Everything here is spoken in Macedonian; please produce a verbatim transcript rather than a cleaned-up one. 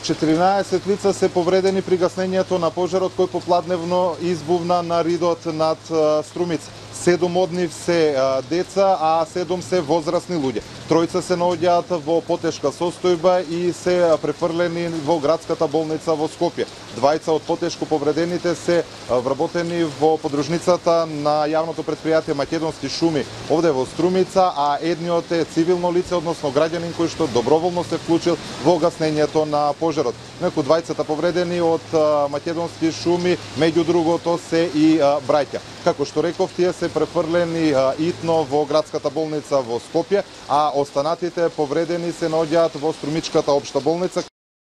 четиринаесет лица се повредени при гаснењето на пожарот кој попладневно избувна на ридот над Струмица. Седум од нив се деца, а седум се возрастни луѓе. Тројца се наоѓаат во потешка состојба и се префрлени во градската болница во Скопје. Двајца од потешко повредените се вработени во подружницата на јавното предпријатие Македонски шуми овде во Струмица, а едниот е цивилно лице, односно граѓанин кој што доброволно се вклучил во гаснењето на пожарот. Меѓу двајцата повредени од Македонски шуми, меѓу другото се и браќа. Како што реков, тие се префрлени итно во градската болница во Скопје, а останатите повредени се наоѓаат во Струмичката општа болница.